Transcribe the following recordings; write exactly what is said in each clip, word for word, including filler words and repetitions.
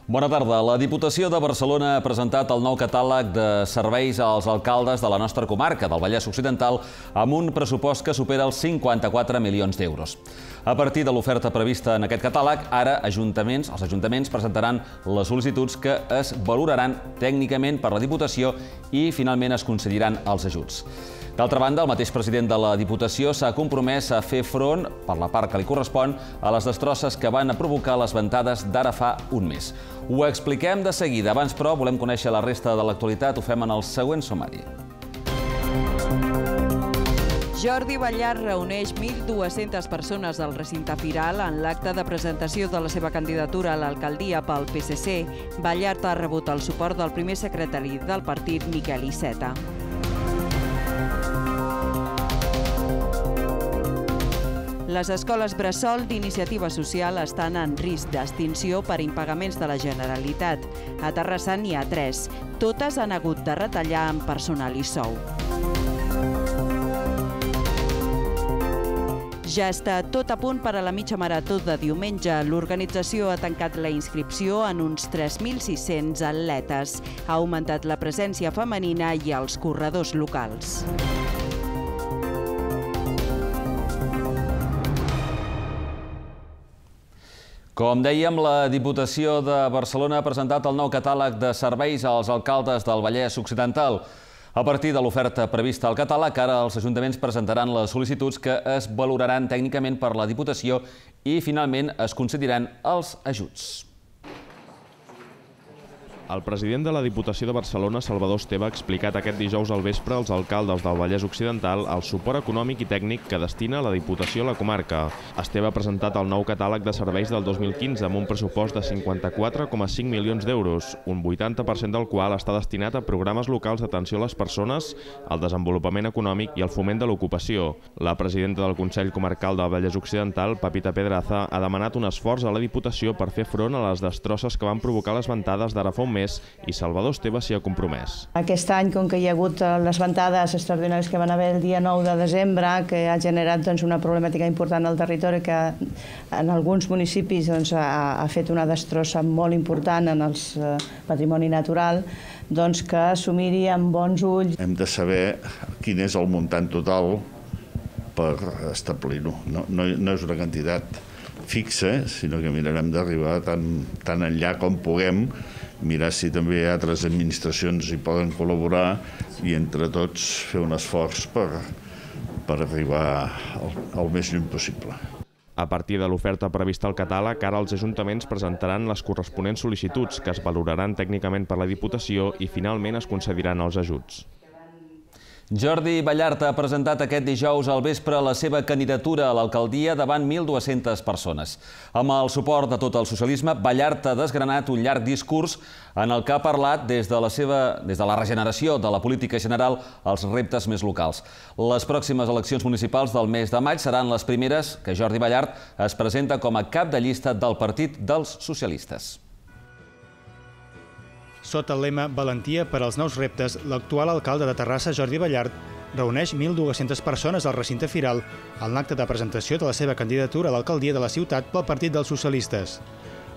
Bona tarda. La Diputació de Barcelona ha presentat el nou catàleg de serveis als alcaldes de la nostra comarca, del Vallès Occidental, amb un pressupost que supera els cinquanta-quatre milions d'euros. A partir de l'oferta prevista en aquest catàleg, ara ajuntaments, els ajuntaments presentaran les sol·licituds que es valoraran tècnicament per la Diputació i finalment es concediran els ajuts. D'altra banda, el mateix president de la Diputació s'ha compromès a fer front, per la part que li correspon, a les destrosses que van a provocar les ventades d'ara fa un mes. Ho expliquem de seguida. Abans, però, volem conèixer la resta de l'actualitat. Ho fem en el següent sumari. Jordi Ballart reuneix mil dues-centes persones al recinte firal en l'acte de presentació de la seva candidatura a l'alcaldia pel P S C. Ballart ha rebut el suport del primer secretari del partit, Miquel Iceta. Les escoles bressol d'iniciativa social estan en risc d'extinció per impagaments de la Generalitat. A Terrassa n'hi ha tres. Totes han hagut de retallar en personal i sou. Ja està tot a punt per a la mitja marató de diumenge. L'organització ha tancat la inscripció en uns tres mil sis-cents atletes. Ha augmentat la presència femenina i els corredors locals. Com dèiem, la Diputació de Barcelona ha presentat el nou catàleg de serveis als alcaldes del Vallès Occidental. A partir de l'oferta prevista al catàleg, ara els ajuntaments presentaran les sol·licituds que es valoraran tècnicament per la Diputació i finalment es concediran els ajuts. El president de la Diputació de Barcelona, Salvador Esteve, ha explicat aquest dijous al vespre als alcaldes del Vallès Occidental el suport econòmic i tècnic que destina la Diputació a la comarca. Esteve ha presentat el nou catàleg de serveis del dos mil quinze amb un pressupost de cinquanta-quatre coma cinc milions d'euros, un vuitanta per cent del qual està destinat a programes locals d'atenció a les persones, al desenvolupament econòmic i al foment de l'ocupació. La presidenta del Consell Comarcal del Vallès Occidental, Pepita Pedraza, ha demanat un esforç a la Diputació per fer front a les destrosses que van provocar les ventades d'ara fa un mes i Salvador Esteve s'hi ha compromès. Aquest any, com que hi ha hagut les ventades extraordinàries que van haver el dia nou de desembre, que ha generat doncs, una problemàtica important al territori que en alguns municipis doncs, ha, ha fet una destrossa molt important en el eh, patrimoni natural, doncs que s'ho miri amb bons ulls. Hem de saber quin és el muntant total per establir-ho. No, no, no és una quantitat fixa, sinó que mirarem d'arribar tan, tan enllà com puguem, mirar si també altres administracions hi poden col·laborar i entre tots fer un esforç per, per arribar al, al més lluny possible. A partir de l'oferta prevista al catàleg, ara els ajuntaments presentaran les corresponents sol·licituds que es valoraran tècnicament per la Diputació i finalment es concediran els ajuts. Jordi Ballart ha presentat aquest dijous al vespre la seva candidatura a l'alcaldia davant mil dues-centes persones. Amb el suport de tot el socialisme, Ballart ha desgranat un llarg discurs en el que ha parlat des de la seva, des de la regeneració de la política general als reptes més locals. Les pròximes eleccions municipals del mes de maig seran les primeres que Jordi Ballart es presenta com a cap de llista del Partit dels Socialistes. Sota el lema Valentia per als nous reptes, l'actual alcalde de Terrassa, Jordi Ballart, reuneix mil dues-centes persones al recinte firal en l'acte de presentació de la seva candidatura a l'alcaldia de la ciutat pel Partit dels Socialistes.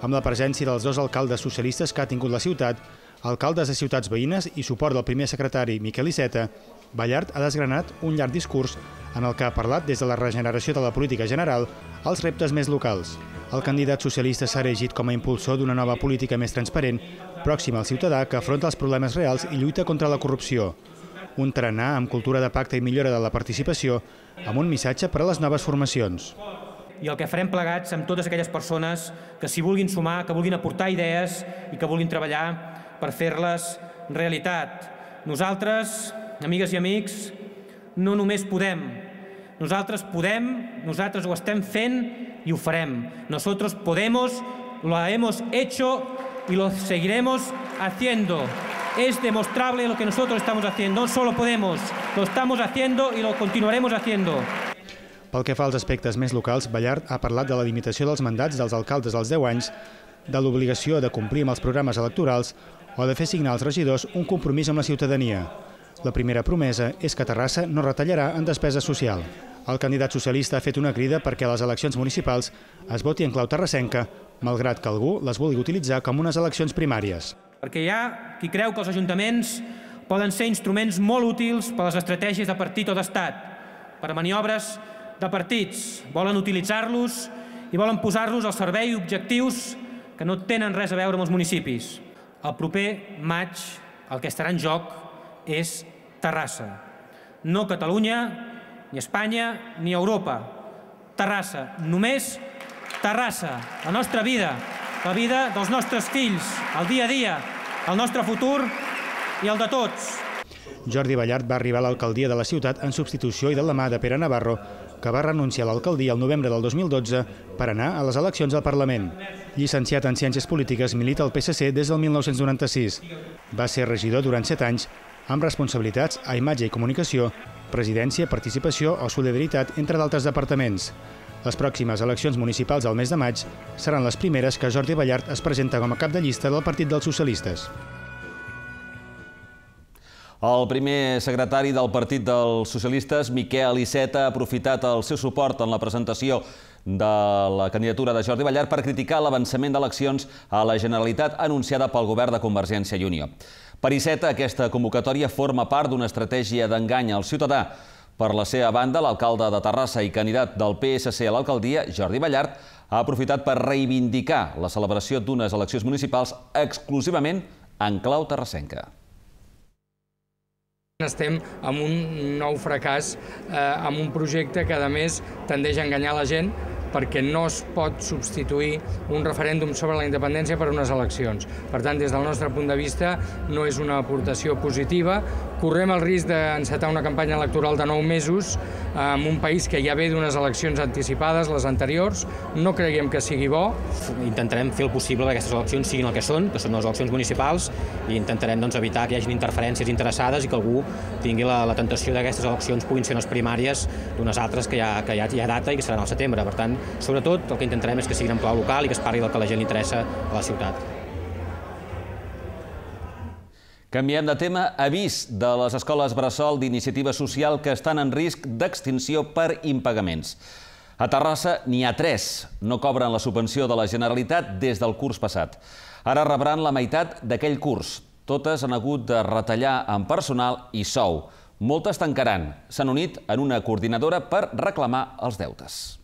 Amb la presència dels dos alcaldes socialistes que ha tingut la ciutat, alcaldes de ciutats veïnes i suport del primer secretari, Miquel Iceta, Ballart ha desgranat un llarg discurs en el que ha parlat des de la regeneració de la política general als reptes més locals. El candidat socialista s'ha erigit com a impulsor d'una nova política més transparent, pròxima al ciutadà que afronta els problemes reals i lluita contra la corrupció. Un tarannà amb cultura de pacte i millora de la participació, amb un missatge per a les noves formacions. I el que farem plegats amb totes aquelles persones que s'hi vulguin sumar, que vulguin aportar idees i que vulguin treballar per fer-les realitat. Nosaltres, amigues i amics, no només podem. Nosaltres podem, nosaltres ho estem fent y lo farem. Nosotros podemos, lo hemos hecho y lo seguiremos haciendo. Es demostrable lo que nosotros estamos haciendo. No solo podemos, lo estamos haciendo y lo continuaremos haciendo. Pel que fa als aspectes més locals, Ballart ha parlat de la limitació dels mandats dels alcaldes als deu anys, de l'obligació de complir amb els programes electorals o de fer signar als regidors un compromís amb la ciutadania. La primera promesa és que Terrassa no retallarà en despesa social. El candidat socialista ha fet una crida perquè a les eleccions municipals es voti en clau terrassenca malgrat que algú les vulgui utilitzar com unes eleccions primàries. Perquè hi ha qui creu que els ajuntaments poden ser instruments molt útils per a les estratègies de partit o d'estat, per a maniobres de partits. Volen utilitzar-los i volen posar-los al servei objectius que no tenen res a veure amb els municipis. El proper maig el que estarà en joc és Terrassa. No Catalunya, ni Espanya, ni Europa. Terrassa. Només Terrassa. La nostra vida, la vida dels nostres fills, el dia a dia, el nostre futur i el de tots. Jordi Ballart va arribar a l'alcaldia de la ciutat en substitució i de la mà de Pere Navarro, que va renunciar a l'alcaldia el novembre del dos mil dotze per anar a les eleccions al Parlament. Llicenciat en Ciències Polítiques, milita al P S C des del mil nou-cents noranta-sis. Va ser regidor durant set anys, amb responsabilitats a Imatge i Comunicació, Presidència, Participació o Solidaritat, entre d'altres departaments. Les pròximes eleccions municipals al mes de maig seran les primeres que Jordi Ballart es presenta com a cap de llista del Partit dels Socialistes. El primer secretari del Partit dels Socialistes, Miquel Iceta, ha aprofitat el seu suport en la presentació de la candidatura de Jordi Ballart per criticar l'avançament d'eleccions a la Generalitat anunciada pel govern de Convergència i Unió. Per Iceta, aquesta convocatòria forma part d'una estratègia d'engany al ciutadà. Per la seva banda, l'alcalde de Terrassa i candidat del P S C a l'alcaldia, Jordi Ballart, ha aprofitat per reivindicar la celebració d'unes eleccions municipals exclusivament en clau terrassenca. Estem amb un nou fracàs, amb un projecte que, a més, tendeix a enganyar la gent perquè no es pot substituir un referèndum sobre la independència per unes eleccions. Per tant, des del nostre punt de vista, no és una aportació positiva. Correm el risc d'encetar una campanya electoral de nou mesos en un país que ja ve d'unes eleccions anticipades, les anteriors. No creiem que sigui bo. Intentarem fer el possible que aquestes eleccions siguin el que són, que són les eleccions municipals, i intentarem doncs, evitar que hi hagi interferències interessades i que algú tingui la, la tentació d'aquestes eleccions puguin ser unes primàries d'unes altres que hi ha, que hi ha, hi ha data i que seran al setembre. Per tant, sobretot, el que intentarem és que siguin en clau local i que es parli del que a la gent li interessa a la ciutat. Canviem de tema. Avís de les escoles bressol d'iniciativa social que estan en risc d'extinció per impagaments. A Terrassa n'hi ha tres. No cobren la subvenció de la Generalitat des del curs passat. Ara rebran la meitat d'aquell curs. Totes han hagut de retallar en personal i sou. Moltes tancaran. S'han unit en una coordinadora per reclamar els deutes.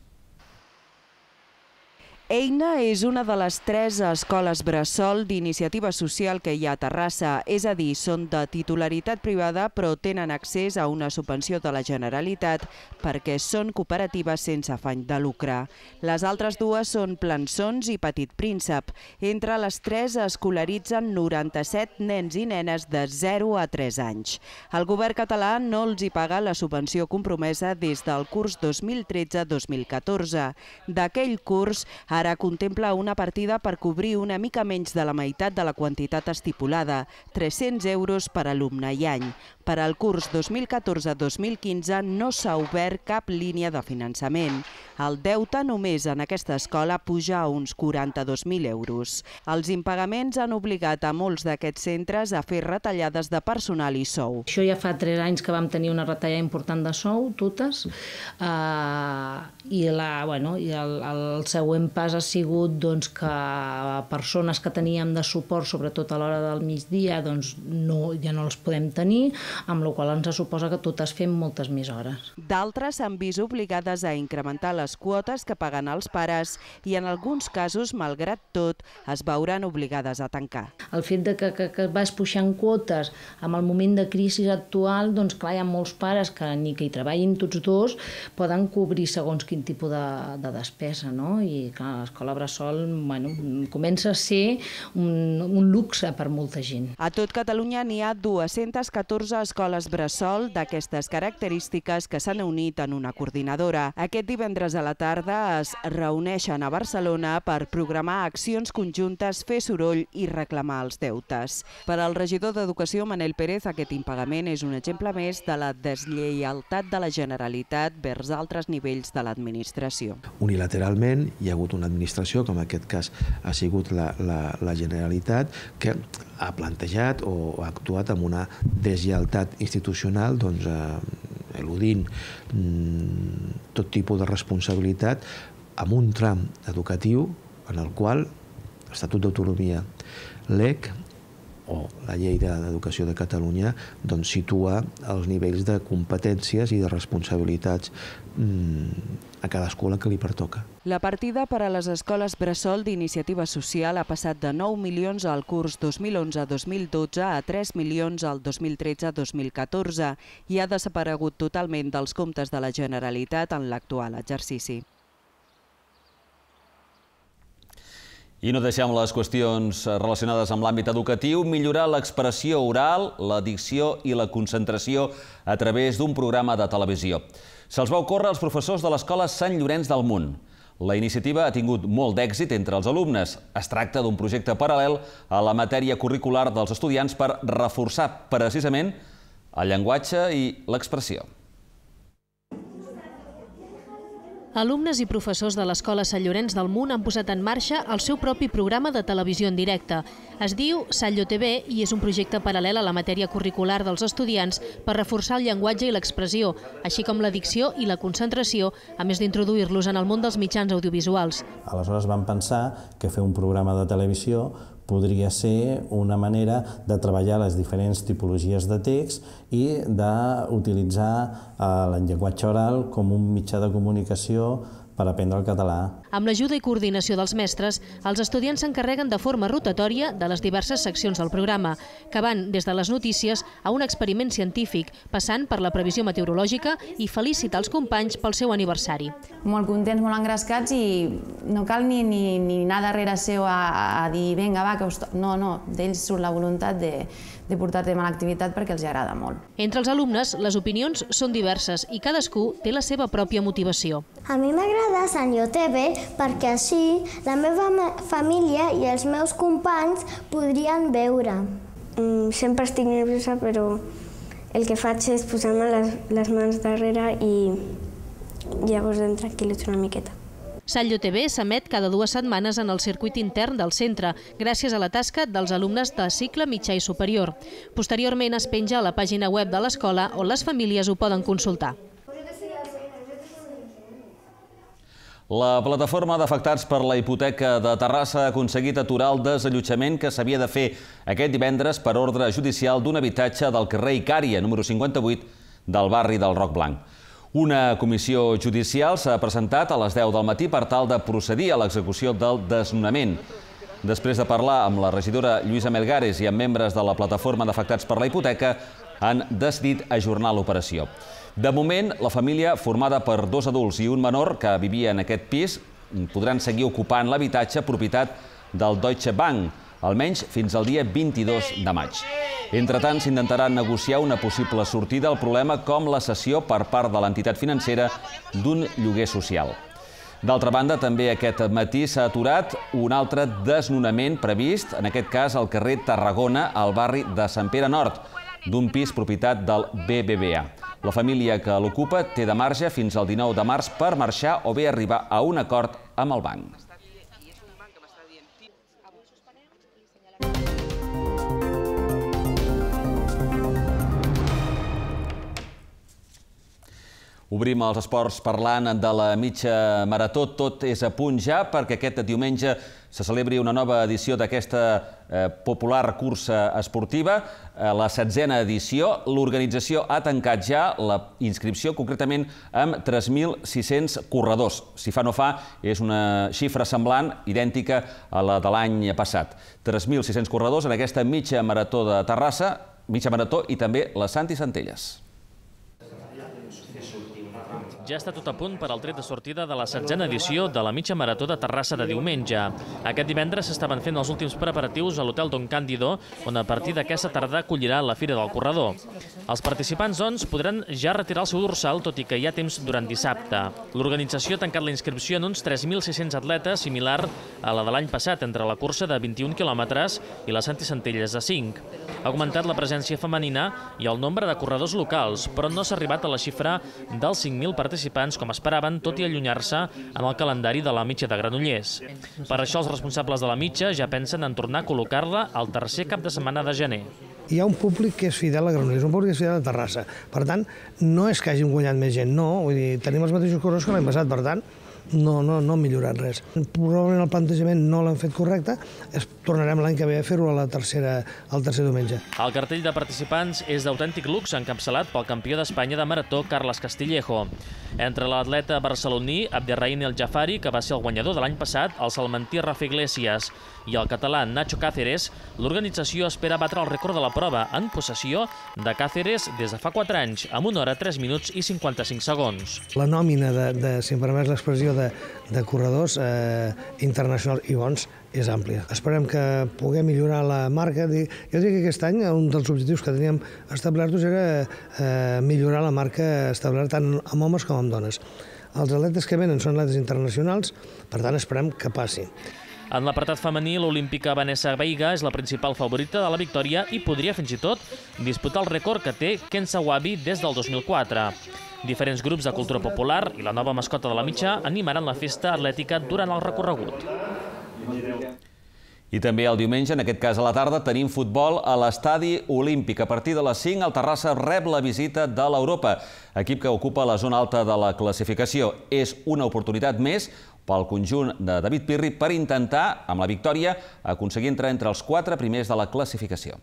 Eina és una de les tres escoles bressol d'iniciativa social que hi ha a Terrassa, és a dir, són de titularitat privada però tenen accés a una subvenció de la Generalitat perquè són cooperatives sense afany de lucre. Les altres dues són Plançons i Petit Príncep. Entre les tres escolaritzen noranta-set nens i nenes de zero a tres anys. El govern català no els hi paga la subvenció compromesa des del curs dos mil tretze dos mil catorze. D'aquell curs, ara contempla una partida per cobrir una mica menys de la meitat de la quantitat estipulada, tres-cents euros per alumne i any. Per al curs dos mil catorze dos mil quinze no s'ha obert cap línia de finançament. El deute només en aquesta escola puja a uns quaranta-dos mil euros. Els impagaments han obligat a molts d'aquests centres a fer retallades de personal i sou. Això ja fa tres anys que vam tenir una retallada important de sou, totes, eh, i, la, bueno, i el, el següent pas ha sigut doncs, que persones que teníem de suport, sobretot a l'hora del migdia, doncs, no, ja no les podem tenir, amb la qual ens suposa que totes fem moltes més hores. D'altres s'han vist obligades a incrementar les quotes que paguen els pares i en alguns casos, malgrat tot, es veuran obligades a tancar. El fet de que, que, que vas puixant quotes amb el moment de crisi actual, doncs clar, hi ha molts pares que ni que hi treballin tots dos poden cobrir segons quin tipus de, de despesa, no? I clar, l'escola bressol bueno, comença a ser un, un luxe per molta gent. A tot Catalunya n'hi ha dues-centes catorze escoles bressol d'aquestes característiques que s'han unit en una coordinadora. Aquest divendres a la tarda es reuneixen a Barcelona per programar accions conjuntes, fer soroll i reclamar els deutes. Per al regidor d'Educació, Manel Pérez, aquest impagament és un exemple més de la deslleialtat de la Generalitat vers altres nivells de l'administració. Unilateralment hi ha hagut una administració, com en aquest cas ha sigut la, la, la Generalitat, que ha plantejat o ha actuat amb una deslleialtat institucional, doncs, eh, eludint mm, tot tipus de responsabilitat amb un tram educatiu en el qual l'Estatut d'Autonomia, l'E C o la Llei d'Educació de Catalunya doncs situa els nivells de competències i de responsabilitats a cada escola que li pertoca. La partida per a les escoles bressol d'Iniciativa Social ha passat de nou milions al curs dos mil onze dos mil dotze a tres milions al dos mil tretze dos mil catorze i ha desaparegut totalment dels comptes de la Generalitat en l'actual exercici. I no deixem les qüestions relacionades amb l'àmbit educatiu, millorar l'expressió oral, la dicció i la concentració a través d'un programa de televisió. Se'ls va ocórrer als professors de l'Escola Sant Llorenç del Munt. La iniciativa ha tingut molt d'èxit entre els alumnes. Es tracta d'un projecte paral·lel a la matèria curricular dels estudiants per reforçar precisament el llenguatge i l'expressió. Alumnes i professors de l'Escola Sant Llorenç del Munt han posat en marxa el seu propi programa de televisió en directe. Es diu Sallo T V i és un projecte paral·lel a la matèria curricular dels estudiants per reforçar el llenguatge i l'expressió, així com la dicció i la concentració, a més d'introduir-los en el món dels mitjans audiovisuals. Aleshores vam pensar que fer un programa de televisió podria ser una manera de treballar les diferents tipologies de text i d'utilitzar el llenguatge oral com un mitjà de comunicació per aprendre el català. Amb l'ajuda i coordinació dels mestres, els estudiants s'encarreguen de forma rotatòria de les diverses seccions del programa, que van des de les notícies a un experiment científic, passant per la previsió meteorològica i felicitar els companys pel seu aniversari. Molt contents, molt engrescats i no cal ni, ni, ni anar darrere seu a, a dir vinga, va, que us... No, no, d'ells surt la voluntat de, de portar a terme l'activitat perquè els agrada molt. Entre els alumnes, les opinions són diverses i cadascú té la seva pròpia motivació. A mi m'agrada Sallo T V perquè així la meva família i els meus companys podrien veure. Mm, sempre estic nerviosa, però el que faig és posar-me les, les mans darrere i llavors em tranquil·litzo una miqueta. Sallo T V s'emet cada dues setmanes en el circuit intern del centre, gràcies a la tasca dels alumnes de cicle mitjà i superior. Posteriorment es penja a la pàgina web de l'escola on les famílies ho poden consultar. La plataforma d'afectats per la hipoteca de Terrassa ha aconseguit aturar el desallotjament que s'havia de fer aquest divendres per ordre judicial d'un habitatge del carrer Icària, número cinquanta-vuit, del barri del Roc Blanc. Una comissió judicial s'ha presentat a les deu del matí per tal de procedir a l'execució del desnonament. Després de parlar amb la regidora Lluïsa Melgares i amb membres de la plataforma d'afectats per la hipoteca, han decidit ajornar l'operació. De moment, la família, formada per dos adults i un menor que vivia en aquest pis, podran seguir ocupant l'habitatge propietat del Deutsche Bank, almenys fins al dia vint-i-dos de maig. Entretant, s'intentarà negociar una possible sortida al problema com la cessió per part de l'entitat financera d'un lloguer social. D'altra banda, també aquest matí s'ha aturat un altre desnonament previst, en aquest cas al carrer Tarragona, al barri de Sant Pere Nord, d'un pis propietat del B B V A. La família que l'ocupa té de marge fins al dinou de març per marxar o bé arribar a un acord amb el banc. Obrim els esports parlant de la mitja marató. Tot és a punt ja perquè aquest diumenge se celebri una nova edició d'aquesta popular cursa esportiva, la setzena edició. L'organització ha tancat ja la inscripció, concretament amb tres mil sis-cents corredors. Si fa no fa, és una xifra semblant, idèntica a la de l'any passat. tres mil sis-cents corredors en aquesta mitja marató de Terrassa, mitja marató i també la Santi Centelles. Ja està tot a punt per al tret de sortida de la setzena edició de la mitja marató de Terrassa de diumenge. Aquest divendres s'estaven fent els últims preparatius a l'Hotel Don Cándido, on a partir d'aquesta tarda acollirà la Fira del Corredor. Els participants, doncs, podran ja retirar el seu dorsal, tot i que hi ha temps durant dissabte. L'organització ha tancat la inscripció en uns tres mil sis-cents atletes, similar a la de l'any passat, entre la cursa de vint-i-un quilòmetres i la Santi Centelles de cinc. Ha augmentat la presència femenina i el nombre de corredors locals, però no s'ha arribat a la xifra dels cinc mil participants participants com esperaven, tot i allunyar-se en el calendari de la mitja de Granollers. Per això els responsables de la mitja ja pensen en tornar a col·locar-la al tercer cap de setmana de gener. Hi ha un públic que és fidel a Granollers, un públic que és fidel a Terrassa. Per tant, no és que hàgim guanyat més gent, no. Vull dir, tenim els mateixos corredors que l'any passat, per tant, no, no, no ha millorat res. Probablement el plantejament no l'han fet correcte, tornarem l'any que ve a fer-ho al tercer diumenge. El cartell de participants és d'autèntic luxe, encapçalat pel campió d'Espanya de marató, Carles Castillejo. Entre l'atleta barceloní Abderrahim El Jafari, que va ser el guanyador de l'any passat, el salmantí Rafa Iglesias i el català Nacho Cáceres, l'organització espera batre el rècord de la prova en possessió de Cáceres des de fa quatre anys, amb una hora, tres minuts i cinquanta-cinc segons. La nòmina de, de si em permets l'expressió, de, de corredors eh, internacionals i bons és àmplia. Esperem que puguem millorar la marca. Jo dic que aquest any un dels objectius que teníem establerts era eh, millorar la marca establerta tant amb homes com amb dones. Els atletes que venen són atletes internacionals, per tant esperem que passi. En l'apartat femení, l'olímpica Vanessa Veiga és la principal favorita de la victòria i podria fins i tot disputar el rècord que té Ken Sawabi des del dos mil quatre. Diferents grups de cultura popular i la nova mascota de la mitja animaran la festa atlètica durant el recorregut. I també el diumenge, en aquest cas a la tarda, tenim futbol a l'Estadi Olímpic. A partir de les cinc, el Terrassa rep la visita de l'Europa, equip que ocupa la zona alta de la classificació. És una oportunitat més pel conjunt de David Pirri per intentar, amb la victòria, aconseguir entrar entre els quatre primers de la classificació.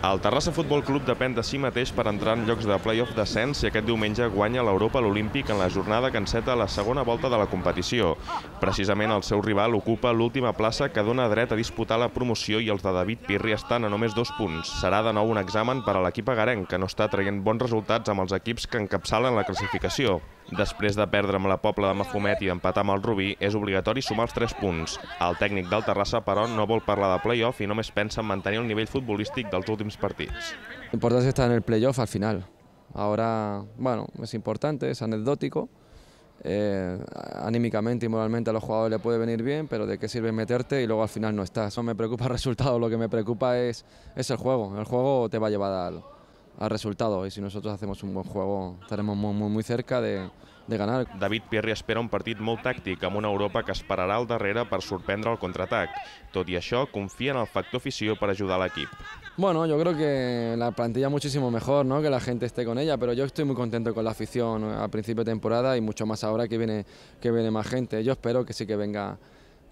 El Terrassa Futbol Club depèn de si mateix per entrar en llocs de play-off d'ascens si aquest diumenge guanya l'Europa a l'Olímpic en la jornada que enceta la segona volta de la competició. Precisament el seu rival ocupa l'última plaça que dona dret a disputar la promoció i els de David Pirri estan a només dos punts. Serà de nou un examen per a l'equip agarenc, que no està traient bons resultats amb els equips que encapçalen la classificació. Després de perdre amb la Pobla de Mafumet i empatar amb el Rubí, és obligatori sumar els tres punts. El tècnic del Terrassa, però, no vol parlar de play-off i només pensa en mantenir el nivell futbolístic dels últims partits. Lo importante es estar en el play-off al final. Ahora, bueno, es importante, es anecdótico. Eh, anímicamente y moralmente a los jugadores les puede venir bien, pero ¿de qué sirve meterte y luego al final no estás? No me preocupa el resultado, lo que me preocupa es, es el juego. El juego te va a llevar al... al resultado, y si nosotros hacemos un buen juego estaremos muy, muy, muy cerca de, de ganar. David Pirri espera un partit molt tàctic amb una Europa que esperarà al darrere per sorprendre el contraatac. Tot i això, confia en el factor afició per ajudar l'equip. Bueno, yo creo que la plantilla muchísimo mejor, ¿no? Que la gente esté con ella, pero yo estoy muy contento con la afición al principio de temporada y mucho más ahora que viene, que viene más gente. Yo espero que sí que venga,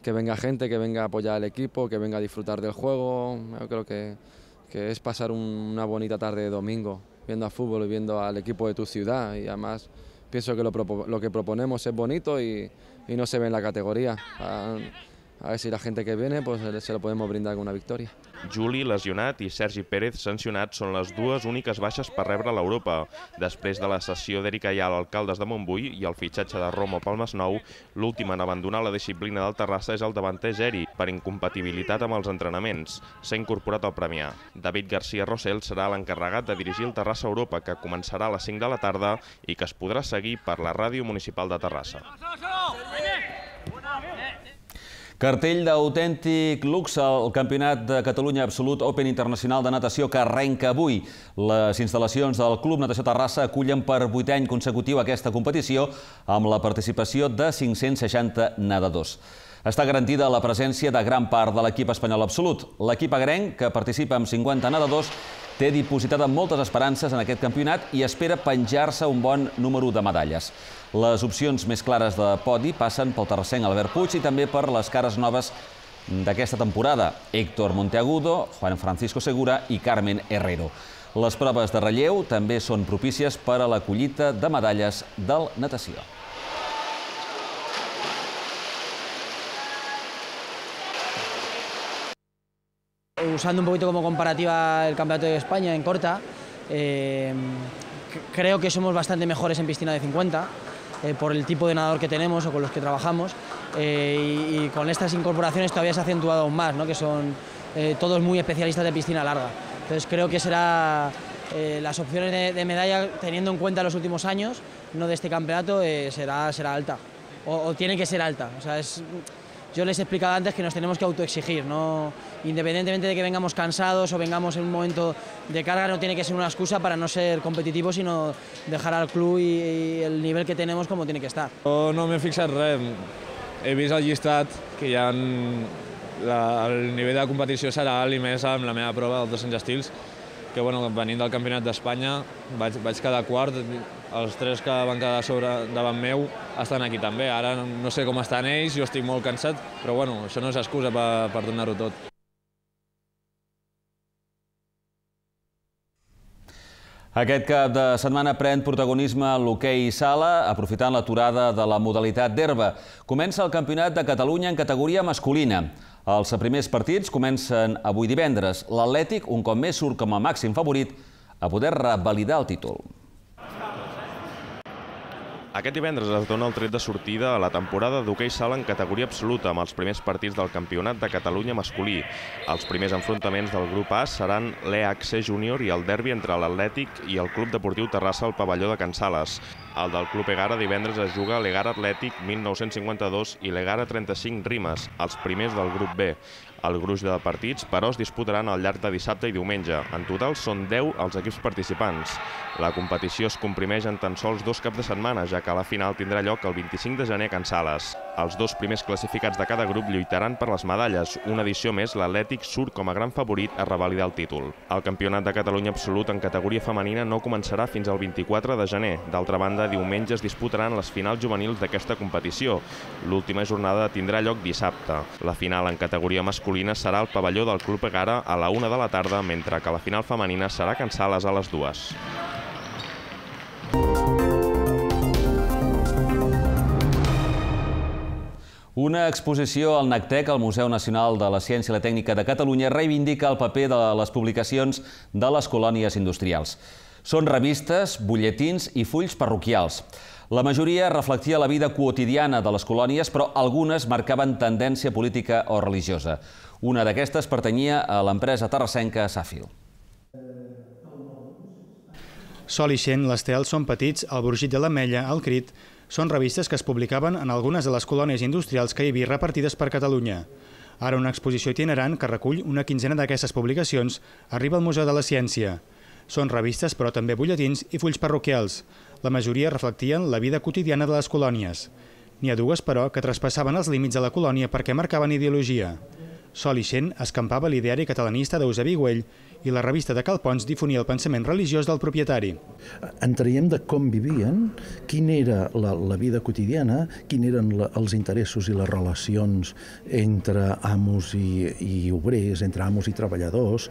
que venga gente, que venga a apoyar al equipo, que venga a disfrutar del juego. Yo creo que que es pasar una bonita tarde de domingo viendo al fútbol y viendo al equipo de tu ciudad, y además pienso que lo, lo que proponemos es bonito y, y no se ve en la categoría. A, a ver si la gente que viene pues se lo podemos brindar con una victòria. Juli, lesionat, i Sergi Pérez, sancionat, són les dues úniques baixes per rebre l'Europa. Després de la cessió d'Eric Ayala al Caldes de Montbui i el fitxatge de Romo pel Masnou, l'últim en abandonar la disciplina del Terrassa és el davanter Geri, per incompatibilitat amb els entrenaments. S'ha incorporat al Premià. David García Rossell serà l'encarregat de dirigir el Terrassa Europa, que començarà a les cinc de la tarda i que es podrà seguir per la ràdio municipal de Terrassa. Cartell d'autèntic luxe al Campionat de Catalunya Absolut Open Internacional de Natació que arrenca avui. Les instal·lacions del Club Natació Terrassa acullen per vuitè any consecutiu aquesta competició amb la participació de cinc-cents seixanta nedadors. Està garantida la presència de gran part de l'equip espanyol absolut. L'equip agrenc, que participa amb cinquanta nedadors, té dipositada moltes esperances en aquest campionat i espera penjar-se un bon número de medalles. Les opcions més clares de podi passen pel terrassenc Albert Puig i també per les cares noves d'aquesta temporada, Héctor Monteagudo, Juan Francisco Segura i Carmen Herrero. Les proves de relleu també són propícies per a la collita de medalles del natació. Usando un poquito como comparativa el Campeonato de España en corta, eh, creo que somos bastante mejores en piscina de cincuenta, eh, por el tipo de nadador que tenemos o con los que trabajamos, eh, y, y con estas incorporaciones todavía se ha acentuado aún más, ¿no? Que son eh, todos muy especialistas de piscina larga. Entonces creo que será eh, las opciones de, de medalla, teniendo en cuenta los últimos años, no de este campeonato, eh, será, será alta, o, o tiene que ser alta. O sea, es, yo les he explicado antes que nos tenemos que autoexigir, ¿no? Independientemente de que vengamos cansados o vengamos en un momento de carga, no tiene que ser una excusa para no ser competitivos, sino dejar al club i, i el nivell que tenemos como tiene que estar. Jo no m'he fixat res, he vist el llistat que hi ha la, el nivell de competició serà alt i més amb la meva prova dels dos-cents estils, que bueno, venint del Campionat d'Espanya vaig, vaig quedar quart, els tres que van quedar sobre davant meu estan aquí també. Ara no sé com estan ells, jo estic molt cansat, però bueno, això no és excusa per, per donar-ho tot. Aquest cap de setmana pren protagonisme l'hoquei sala, aprofitant l'aturada de la modalitat d'herba. Comença el Campionat de Catalunya en categoria masculina. Els primers partits comencen avui divendres. L'Atlètic, un cop més, surt com a màxim favorit a poder revalidar el títol. Aquest divendres es dona el tret de sortida a la temporada d'hoquei sala en categoria absoluta amb els primers partits del Campionat de Catalunya masculí. Els primers enfrontaments del grup A seran l'E H C Júnior i el derbi entre l'Atlètic i el Club Deportiu Terrassa al pavelló de Can Sales. El del Club Egara divendres es juga l'Egara Atlètic mil nou-cents cinquanta-dos i l'Egara trenta-cinc Rimes, els primers del grup B. El gruix de partits, però, es disputaran al llarg de dissabte i diumenge. En total són deu els equips participants. La competició es comprimeix en tan sols dos caps de setmana, ja que la final tindrà lloc el vint-i-cinc de gener a Can Sales. Els dos primers classificats de cada grup lluitaran per les medalles. Una edició més, l'Atlètic surt com a gran favorit a revalidar el títol. El Campionat de Catalunya absolut en categoria femenina no començarà fins al vint-i-quatre de gener. D'altra banda, diumenge es disputaran les finals juvenils d'aquesta competició. L'última jornada tindrà lloc dissabte. La final en categoria masculina serà al pavelló del Club Egara a la una de la tarda, mentre que la final femenina serà a Can Sales a les dues. Una exposició al NACTEC, al Museu Nacional de la Ciència i la Tècnica de Catalunya, reivindica el paper de les publicacions de les colònies industrials. Són revistes, butlletins i fulls parroquials. La majoria reflectia la vida quotidiana de les colònies, però algunes marcaven tendència política o religiosa. Una d'aquestes pertanyia a l'empresa terrassenca Safil. Sol ixent, l'Estel, Són petits, El Brogit de l'Ametlla, El Crit, són revistes que es publicaven en algunes de les colònies industrials que hi havia repartides per Catalunya. Ara una exposició itinerant que recull una quinzena d'aquestes publicacions arriba al Museu de la Ciència. Són revistes, però també butlletins i fulls parroquials. La majoria reflectien la vida quotidiana de les colònies. N'hi ha dues, però, que traspassaven els límits de la colònia perquè marcaven ideologia. Sol ixent escampava l'ideari catalanista d'Eusebi Güell i la revista de Cal Pons difonia el pensament religiós del propietari. En traiem de com vivien, quina era la, la vida quotidiana, quins eren la, els interessos i les relacions entre amos i, i obrers, entre amos i treballadors,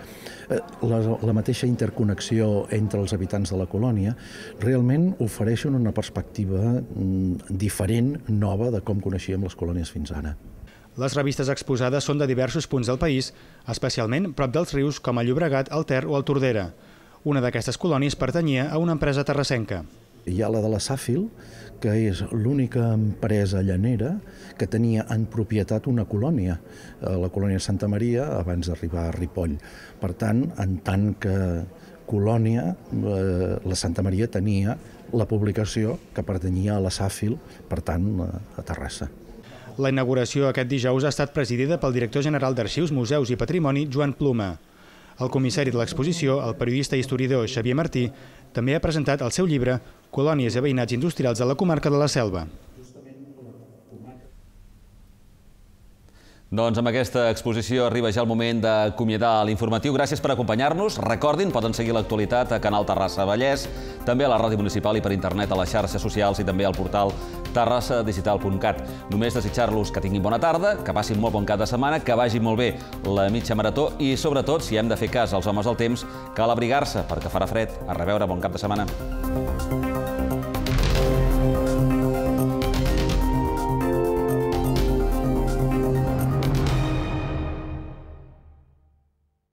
la, la mateixa interconnexió entre els habitants de la colònia, realment ofereixen una perspectiva diferent, nova, de com coneixíem les colònies fins ara. Les revistes exposades són de diversos punts del país, especialment prop dels rius com el Llobregat, el Ter o el Tordera. Una d'aquestes colònies pertanyia a una empresa terrassenca. Hi ha la de la Safil, que és l'única empresa llanera que tenia en propietat una colònia, la colònia Santa Maria, abans d'arribar a Ripoll. Per tant, en tant que colònia, la Santa Maria tenia la publicació que pertanyia a la Safil, per tant, a Terrassa. La inauguració aquest dijous ha estat presidida pel director general d'Arxius, Museus i Patrimoni, Joan Pluma. El comissari de l'exposició, el periodista i historiador Xavier Martí, també ha presentat el seu llibre Colònies i veïnats industrials de la comarca de la Selva. Doncs amb aquesta exposició arriba ja el moment d'acomiadar l'informatiu. Gràcies per acompanyar-nos. Recordin, poden seguir l'actualitat a Canal Terrassa Vallès, també a la ràdio municipal i per internet a les xarxes socials i també al portal terrassa digital punt cat. Només desitjar-los que tinguin bona tarda, que passin molt bon cap de setmana, que vagi molt bé la mitja marató i, sobretot, si hem de fer cas als homes del temps, cal abrigar-se perquè farà fred. A reveure, bon cap de setmana.